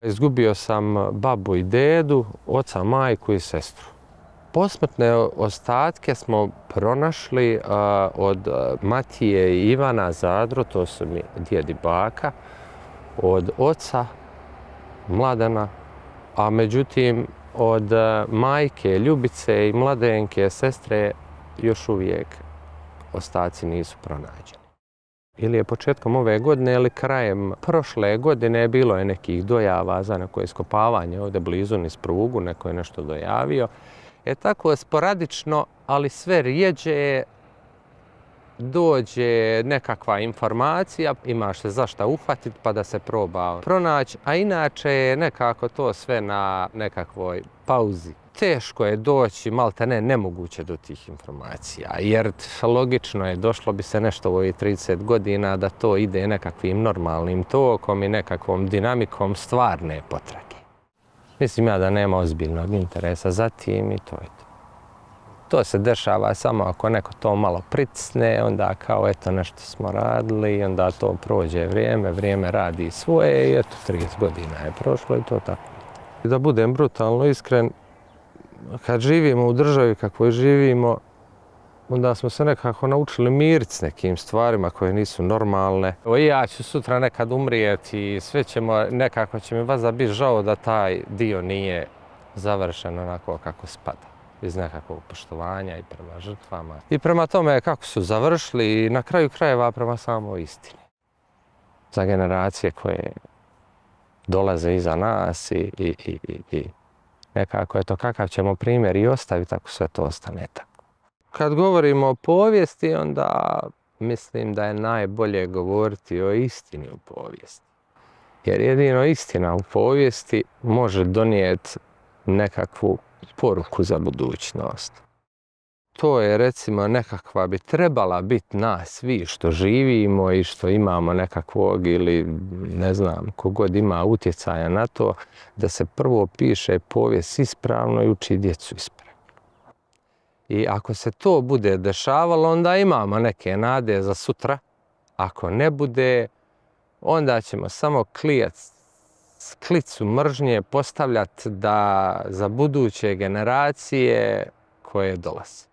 Izgubio sam babu i dedu, oca, majku i sestru. Posmrtne ostatke smo pronašli od Matije i Ivana Zadro, to su mi djed i baka, od oca Mladena, a međutim od majke Ljubice i Mladenke, sestre, još uvijek ostaci nisu pronađeni. Ili je početkom ove godine ili krajem prošle godine bilo je nekih dojava za neko iskopavanje ovdje blizu niz prugu, neko je nešto dojavio. Tako sporadično, ali sve rijeđe dođe nekakva informacija, imaš se za šta uhvatiti pa da se proba pronaći, a inače je nekako to sve na nekakvoj pauzi. Teško je doći, maltene nemoguće do tih informacija, jer logično je, došlo bi se nešto u ovih 30 godina da to ide nekakvim normalnim tokom i nekakvom dinamikom stvarne potrage. Mislim ja da nema ozbiljnog interesa za tim i to je to. To se dešava samo ako neko to malo pritisne, onda kao eto nešto smo radili i onda to prođe vrijeme radi svoje i eto 30 godina je prošlo i to tako. I da budem brutalno iskren, kad živimo u državi kakvoj živimo, onda smo se nekako naučili miriti s nekim stvarima koje nisu normalne. Evo i ja ću sutra nekad umrijeti i sve ćemo, nekako će mi valjda biti žao da taj dio nije završen onako kako spada. Iz nekakvog poštovanja i prema žrtvama. I prema tome kako su završili i na kraju krajeva prema samoj istini. Za generacije koje dolaze iza nas i nekako je to kakav ćemo primjer i ostaviti ako sve to ostane tako. Kad govorimo o povijesti, onda mislim da je najbolje govoriti o istini u povijesti. Jer jedino istina u povijesti može donijeti nekakvu poruku za budućnost. To je recimo nekakva bi trebala biti nas svi što živimo i što imamo nekakvog ili ne znam kogod ima utjecaja na to da se prvo piše povijest ispravno i uči djecu ispravno. I ako se to bude dešavalo onda imamo neke nade za sutra. Ako ne bude onda ćemo samo klicu mržnje postavljati da za buduće generacije koje dolaze.